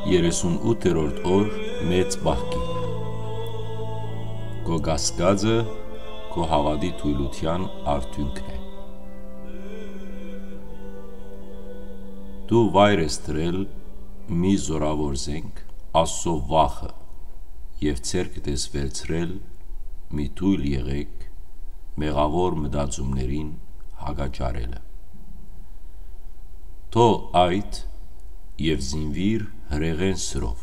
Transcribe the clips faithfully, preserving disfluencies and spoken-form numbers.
Երեսունութերորդ օր մեծ պահքի։ Քո կասկածը քո հաւատի թոյլութեան արդիւնքն է։ Դու վայր ես դրել մի զօրաւոր զենք, Աստծո վախը, եւ ձեռքդ ես վերցրել մի թոյլ եղեք մեղաւոր մտածումներին հակաճառելը։ Թող այդ եւ զինուիր հրեղեն սրով,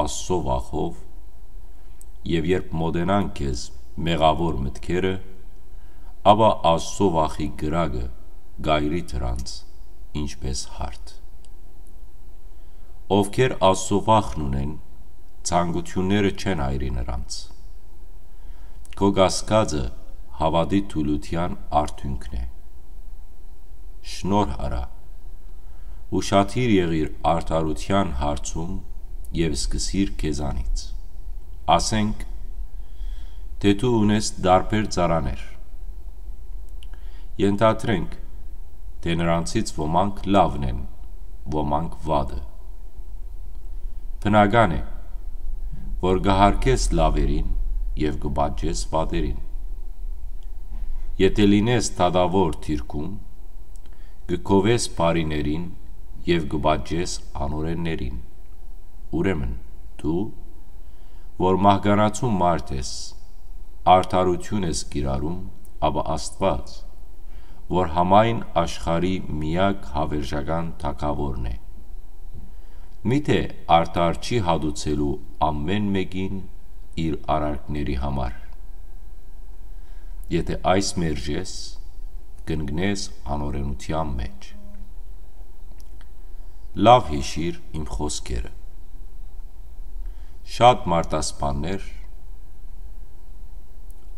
Աստծո վախով, եւ երբ մօտենան քեզ մեղաւոր մտքերը, ապա Աստծո վախի կրակը կայրի դրանց, ինչպէս հարդ։ Ովքեր Աստծո վախն ունեն, ցանկութիւնները չեն այրի նրանց։ Քո կասկածը հաւատի թուլութեան արդիւնքն է։ Շնորհ առա, ուշադիր եղիր արդարութեան հարցում եւ սկսիր քեզանից։ Ասենք, թէ դու ունես տարբեր ծառաներ։ Ենթադրենք, թէ նրանցից ոմանք լավն են, ոմանք վատը։ Բնական է, որ կը հարգես լաւերին եւ կը պատժես վատերին։ Եթէ լինես դատաւոր դիրքում, կը գովես բարիներին եւ կը պատժես անօրէններին։ Ուրեմն դու, որ մահկանացու մարդ ես, արդարութիւն ես կիրառում, ապա Աստուած, որ համայն աշխարհի միակ հաւերժական թագաւորն է, միթէ արդար չի հատուցելու ամէն մէկին իր արարքների համար։ Եթէ այս մերժես, կընկնես անօրէնութեան մէջ։ Լաւ յիշիր իմ խօսքերը։ Շատ մարդասպաններ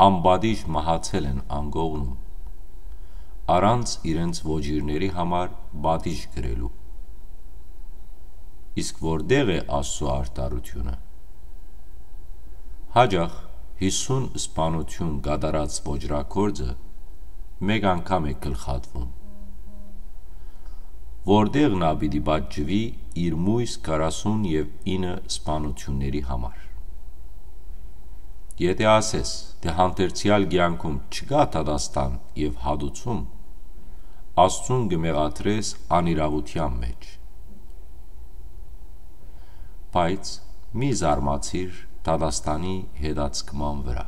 անպատիժ մահացել են անկողնում, առանց իրենց ոճիրների համար պատիժ կրելու։ Իսկ որտեղ է Աստծո արդարութիւնը։ Յաճախ յիսուն սպանութիւն կատարած ոճրագործը մէկ անգամ է գլխատվում։ Որտեղ նա պիտի պատժուի իր մոյս քառասուն եւ ինը սպանութիւնների համար։ Եթէ ասես, թէ հանդերձեալ կեանքում չկայ դատաստան եւ հատուցում, Աստծուն կը մեղադրես անիրաւութեան մէջ։ Բայց մի զարմացիր դատաստանի հետաձգման վրայ։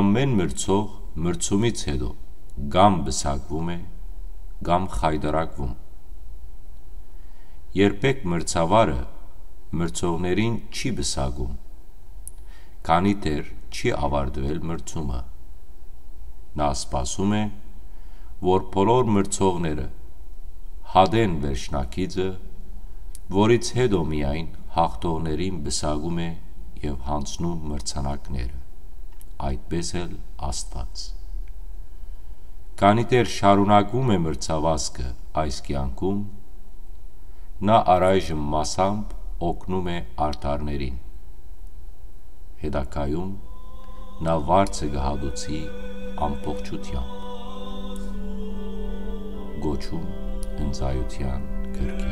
Ամէն մրցող մրցումից հետո կամ պսակվում է, կամ խայտարակվում։ Երբեք մրցավարը մրցողներին չի պսակում, քանի դեռ չի աւարտուել մրցումը։ Նա սպասում է, որ բոլոր մրցողները հատեն վերջնակիցը, որից հետո միայն հաղթողներին պսակում է եւ յանձնում մրցանակները, այդպես էլ Աստուած։ Քանի դեռ շարունակվում է մրցավազքը այս կեանքում, նա առայժմ մասամբ օգնում է արդարներին։ Հետագայում նա վարձը կը հատուցի ամբողջությամբ։ Գոչում ընծայութեան կրկին։